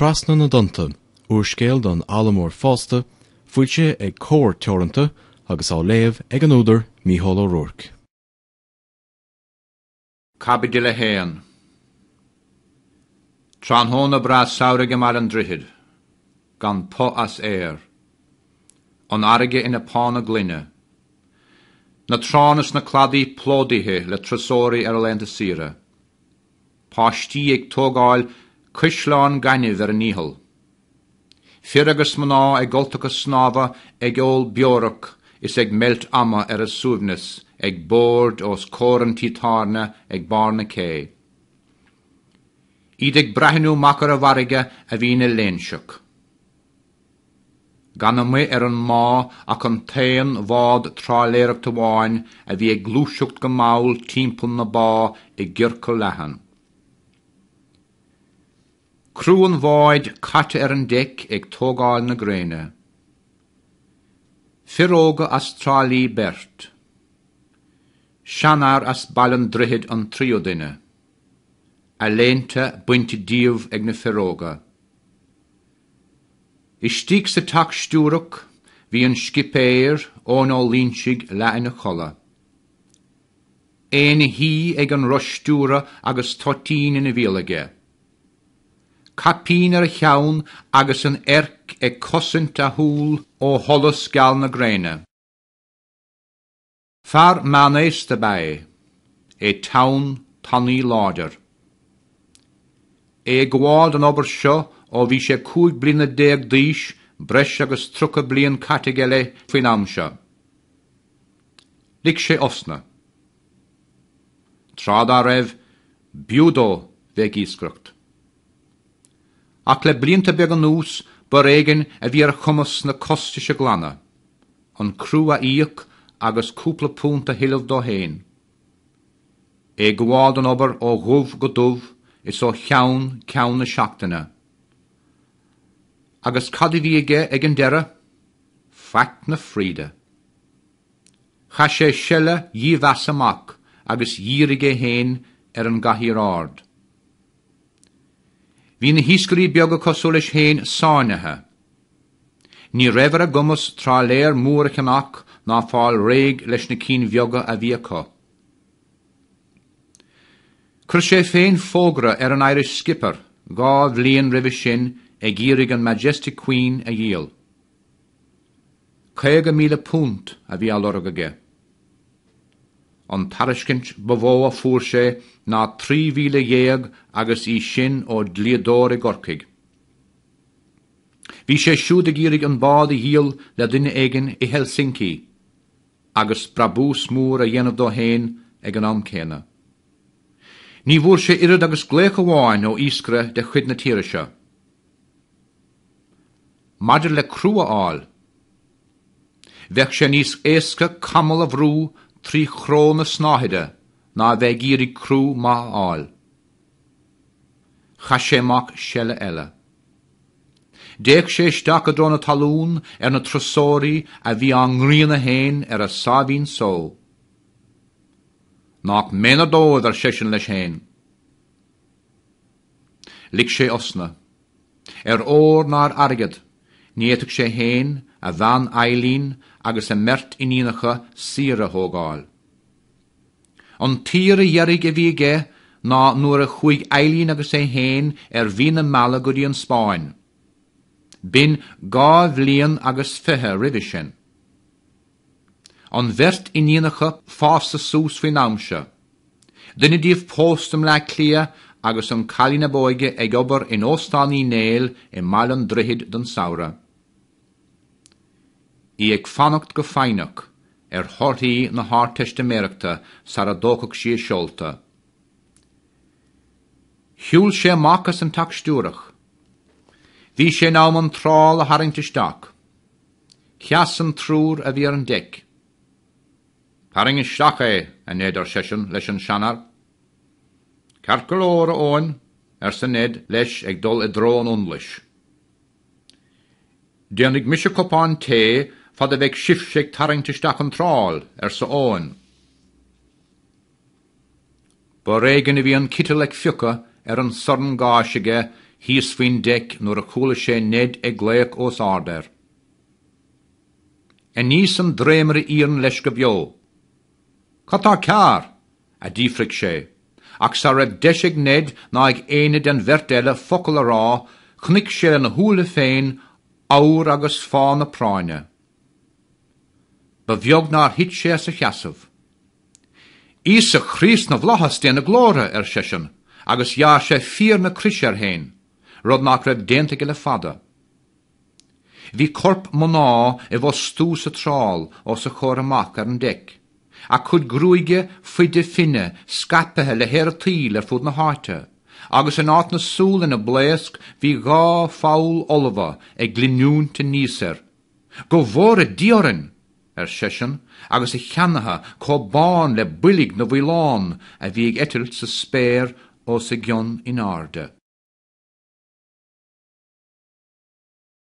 Trasna na dTonnta, úrscéal don fhoghlaimeoir fásta, foilsithe ag Comhar Teoranta agus á léamh ag an údar Mícheál Ó Ruairc. Caibidil 1. Tráthnóna breá samhraidh i mBaile an Droichid, gan puth as aer. An fharraige ina pána gloine. Na tránna is na cladaí plódaithe le turasóirí ar a laethanta saoire. Páistí ag tógáil caisleán gainimh ar a ndícheall. Fir agus mná i gcultacha snámha ag ól beorach is ag meilt ama ar a suaimhneas ag boird os comhair an tí tábhairne ag barr na cé. Iad ag breathnú amach ar an bhfarraige a bhí ina léinseach. Gan amuigh ar an mbá ach an t-aon bhád trálaeireachta amháin a bhí ag gluaiseacht go mall timpeall na bá i gciorcal leathan. Criú an bháid caite ar an deic ag tógáil na gréine. Fir óga as Trá Lí beirt. Seanfhear as Baile an Droichid an tríú duine. A léinte bainte díobh ag na fir óga. Istigh sa teach stiúrach bhí an scipéir, Eoin Ó Loinsigh, leath ina chodladh. É ina shuí ag an roth stiúrtha agus toitín ina bhéal aige. Caipín ar a cheann agus an eirc ag cosaint a shúl ó sholas geal na gréine. Fear meánaosta ab ea é, é teann, tanaí láidir. É ag gabháil don obair seo ó bhí sé 15 bliana d'aois, breis agus 30 bliain caite aige léi faoin am seo. Lig sé osna. Tráth dá raibh, b'fhiú dó bheith ag iascaireacht. Ach le blianta beaga anuas b'ar éigin a bhí ar a chumas na costais a ghlanadh, an criú a íoc agus cúpla punt a thuilleamh dó féin. É ag gabháil don obair ó dhubh go dubh is ó cheann ceann na seachtaine. Agus cad a bhí aige ag an deireadh? Faic na fríde. Chaith sé seile dhímheasa amach agus dhírigh é féin ar an gcathaoir ard. Bhí na hiascairí beaga cosúil leis féin sáinnithe. Ní raibh ar a gcumas trálaer mór a cheannach ná fáil réidh leis na cinn bheaga a bhí acu. Chuir sé féin fógra ar an Irish Skipper dhá bhliain roimhe sin ag iarraidh an Majestic Queen a dhíol. £50,000 a bhí á lorg aige. An tairiscint ba mhó a fuair sé ná 13,000 agus í sin ó dhlíodóir i gCorcaigh. Bhí sé siúd ag iarraidh an bád a dhíol le duine éigin i Helsinki agus brabús mór a dhéanamh dó féin ag an am céanna. Ní bhfuair sé oiread agus glaoch amháin ó iascaire de chuid na tíre seo. Maidir le criú a fháil, bheadh sé níos éasca camall a bhrú trí chró na snáthaide ná a bheith ag iarraidh criú maith a fháil. Chaith sé amach seile eile. D'fhéach sé isteach i dtreo na talún ar na turasóirí a bhí á ngrianadh féin ar a sáimhín só. Nách méanar dóibh, ar seisean leis féin. Lig sé osna. Ar ór ná ar airgead, ní fhéadfadh sé féin, a bhean Eileen agus a mbeirt iníonacha saoire a thógáil. An tsaoire dheiridh a bhí aige ná nuair a chuaigh Eileen agus é féin ar mhí na meala go dtí an Spáinn. B'in dhá bhliain agus fiche roimhe sin. An bheirt iníonacha fásta suas faoin am seo. Duine díobh pósta i mBleá Cliath agus an cailín ab óige ag obair in Óstán Uí Néill i mBaile an Droichid don samhradh. Í ag fanacht go foighneach ar thorthaí na hArdteistiméireachta sara dtógfadh sí a seolta. Shiúil sé amach as an teach stiúrach. Bhí sé in am an trál a tharraingt isteach. Sheas an triúr a bhí ar an deic. Tarraing isteach é, a Ned, ar seisean leis an seanfhear. Ceart go leor, a Eoin, arsa Ned leis ag dul i dtreo an fhionnlais. Déanfaidh mise cupán tae fad a bheidh sibhse ag tarraingt isteach an trál, arsa Eoin. B'ar éigin a bhí an citeal ag fiuchadh ar an sorn gáis aige. thíos faoin deic nuair a chuala sé Ned ag glaoch os ard air. Aníos an dréimire iarainn leis go beo. Cad tá cearr? a d'fhiafraigh sé, ach sara raibh deis ag Ned ná ag éinne den bheirt eile focal a rá, chonaic sé lena shúile féin abhar agus fáth na práinne. Ba bheag nár thit sé as a sheasamh. Íosa Chríost na bhFlaitheas, Dé na Glóire! ar seisean, agus ghearr sé fíor na croise air féin, rud nach raibh déanta aige le fada. Bhí corp mná i bhfostú sa trál os a chomhair amach ar an deic, a cuid gruaige faide finne scaipthe le haer an tsaoil ar fud na háite, agus in áit na súl ina blaosc bhí dhá pholl fholmha ag glinniúint aníos air. Go bhfóire Dia orainn! ar seisean, agus a cheannaithe chomh bán le boilg na bhfaoileán a bhí ag eitilt sa spéir os a gcionn in airde.